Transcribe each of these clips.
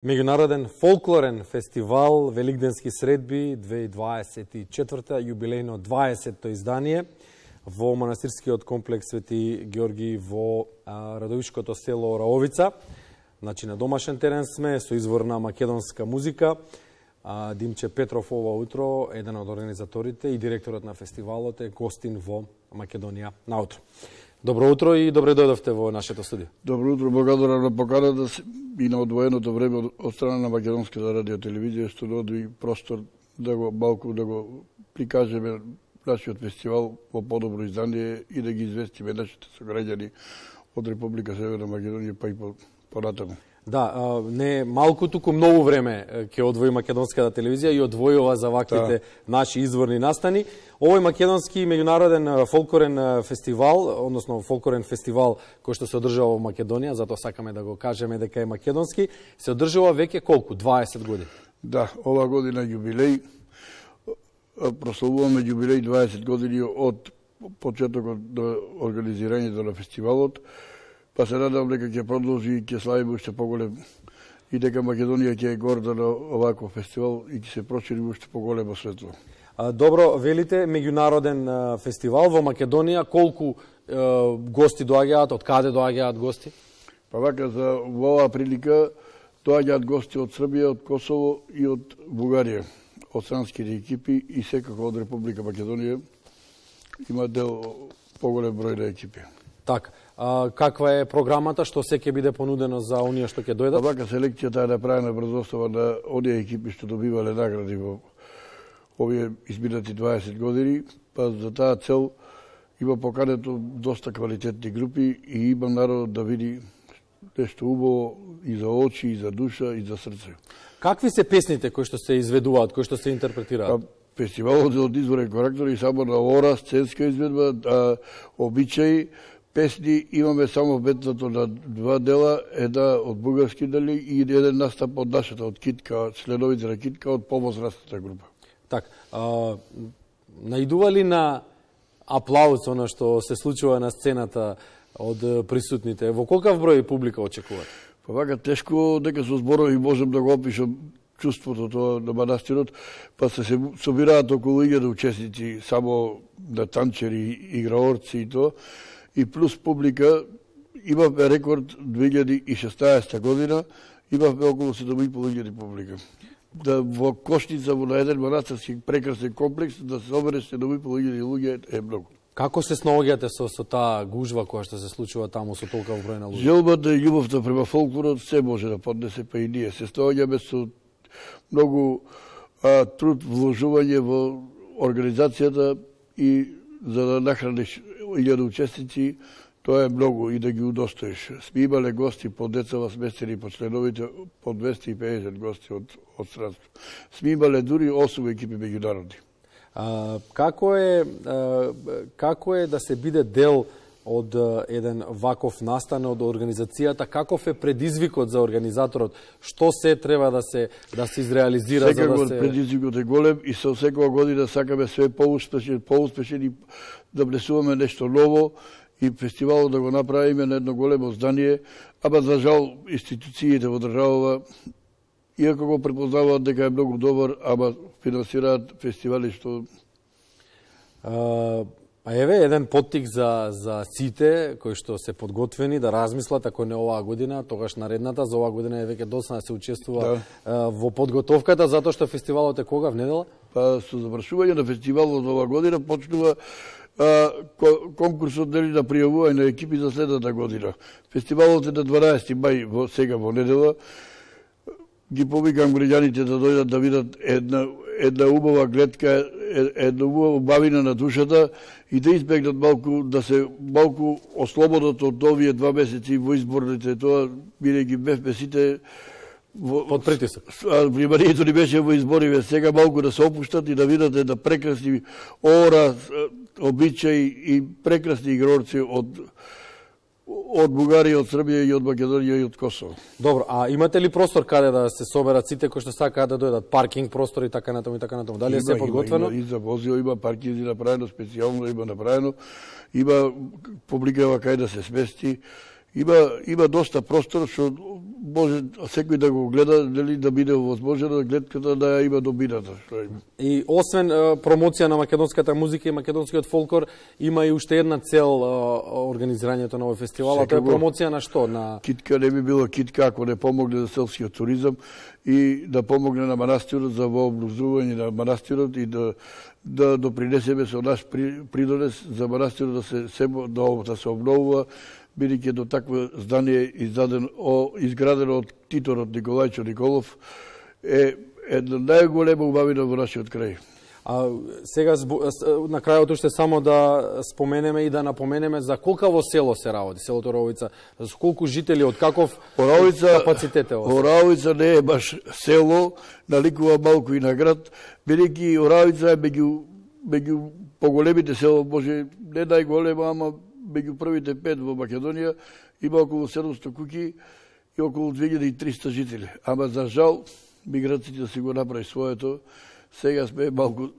Меѓународен фолклорен фестивал Великденски средби 2024, јубилејно 20-то издание во манастирскиот комплекс Свети Георги во Радовишкото село Раовица. Значи на домашен терен сме со изворна македонска музика. Димче Петров ова утро, еден од организаторите и директорот на фестивалот, е гостин во Македонија наутро. Добро утро и добре дојдовте во нашето студио. Добро утро, благодарам на поканата и на одвоеното време од страна на Македонската радиотелевизија, што доди простор да го малку да го прикажеме нашиот фестивал во подобро издание и да ги известиме нашите сограѓани од Република Северна Македонија па и понатаму. Да, не малку, туку многу време ќе одвои Македонската телевизија и одвојува за ваквите наши изворни настани. Овој македонски меѓународен фолклорен фестивал, односно фолклорен фестивал кој што се одржава во Македонија, затоа сакаме да го кажеме дека е македонски, се одржува веќе колку? 20 години. Да, ова година јубилеј, прославуваме јубилеј 20 години од почетокот до организирањето на фестивалот. Па се надам дека ќе продолжи и ќе славиме уште поголем и дека Македонија ќе е горда на оваков фестивал и ќе се прошири уште поголемо светло. Добро, велите меѓународен фестивал во Македонија, колку гости доаѓаат, од каде доаѓаат гости? Па вака, за оваа прилика доаѓаат гости од Србија, од Косово и од Бугарија, од странските екипи и секако од Република Македонија има дел поголем број на екипи. Така, каква е програмата, што се ќе биде понудено за оние што ќе дојдат? Вака, селекцијата е направена врз основа на оние екипи што добивале награди во овие изминати 20 години, па за таа цел има покането доста квалитетни групи и има народ да види нешто убаво и за очи, и за душа, и за срце. Какви се песните кои што се изведуваат, кои што се интерпретираат? Фестивалот е од изворен карактер и само на ора, сценска изведба, обичаи, песни, имаме само бетното на два дела, една од бугарски дали и еден настап од нашата, од Китка, членовите на Китка, од повозрастната група. Так, наидува ли на аплауз оно што се случува на сцената од присутните? Во колкав број публика очекуваат? Па вака, тешко дека со зборови можем да го опишам чувството тоа на манастирот, па се собираат околу 1000 учесници, само на танчери, играорци и тоа, и плюс публика. Имавме рекорд 2016 година, имавме околу 7500 публика. Да во Кошница, во на еден манастирски прекрасен комплекс, да се собере 7500 луѓе е многу. Како се снаоѓате со таа гужва која што се случува таму со толков број на луѓе? Желбата и љубовта према фолклорот се може да поднесе, па и ние се снаоѓаме со многу труд, вложување во организацијата и за да нахраниш 1000 учесници, тоа е многу и да ги удостоиш. Сме имале гости по децава сместени по членовите, по 250 гости од странство. Сме имале дури 8 екипи меѓународни. Како е да се биде дел од еден ваков настан од организацијата? Каков е предизвикот за организаторот? Што се треба да се изреализира? Секако предизвикот е голем и со секоја година сакаме све поуспешни и да внесуваме нешто ново и фестивалот да го направиме на едно големо здание, ама за жал институциите во државава, иако го препознаваат дека е многу добар, ама финансираат фестивали што... Еве еден поттик за сите кои што се подготвени да размислат, ако не оваа година, тогаш наредната. За оваа година е веќе доцна да се учествува во подготовката, затоа што фестивалот е кога, в недела? Па со завршување на фестивалот оваа година почнува конкурсот на пријавување на екипи за следната година. Фестивалот е на 12 мај, сега во недела. Ги повикам граѓаните да дојдат да видат една убава гледка, една убава бавина на душата и да избегнат малку, да се малку ослободат од овие 2 месеци во изборните, тоа бидејќи бевме сите под притисок. Вниманието ни беше во избориве, сега малку да се опуштат и да видат една прекрасни ора, обичаи и прекрасни игрорци од Бугарија, од Србија и од Македонија и од Косово. Добро, а имате ли простор каде да се соберат сите кои што сакаат да дојдат? Паркинг простор и така натаму и така натаму. Дали е се подготвено? Има и за возила, има паркинзи направено, специјално има направено. Има публика кај да се смести Има доста простор што може секој да го гледа, дали да биде овозможено гледката да ја има добината што има. И освен промоција на македонската музика и македонскиот фолклор, има и уште една цел организирањето на овој фестивал, а тоа е промоција на што? На Китка не би било китка ако не помогне за селскиот туризам и да помогне на манастирот за вообразување на манастирот и да допринесеме со наш придонес за манастирот да се обновува, бидејќи до такво здание изградено од титорот Николајчо Николов е една најголема убавина во нашиот крај. А сега на крајот уште само да споменеме и да напоменеме за колкаво село се работи, селото Оравица, за колку жители, од каков капацитет е ова? Оравица не е баш село, наликува малку и на град, бидејќи Оравица е меѓу поголемите село, може не најголема, ама меѓу првите 5 во Македонија, има околу 700 куќи и околу 2300 жители. Ама за жал, миграциите си го направи своето, сега сме малку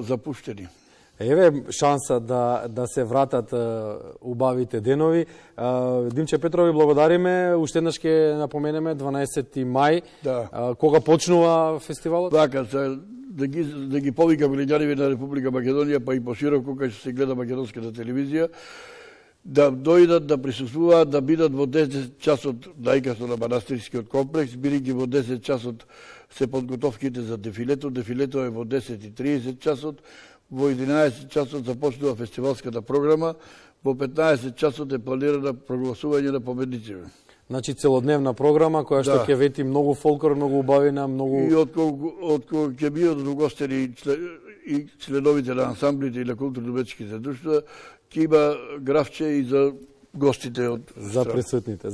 запуштени. Еве шанса да се вратат убавите денови. Димче Петрови, благодариме. Уште еднаш ќе напоменеме 12 мај. Да. Кога почнува фестивалот? Така, да ги повикаме леѓаните на Република Македонија, па и пошироко кај што се гледа македонската телевизија, да дојдат, да присуствуваат, да бидат во 10 часот најкасно на манастирскиот комплекс, бидејќи во 10 часот се подготовките за дефилето. Дефилето е во 10:30 часот, во 11 часот започнува фестивалската програма, во 15 часот е планирано прогласување на победниците. Значи целодневна програма која што ќе вети многу фолклор, многу убавина, многу... И откога ќе бидат угостени и членовите на ансамблите и на културно-уметничките друштва, ќе има графче и за гостите од... За присутните.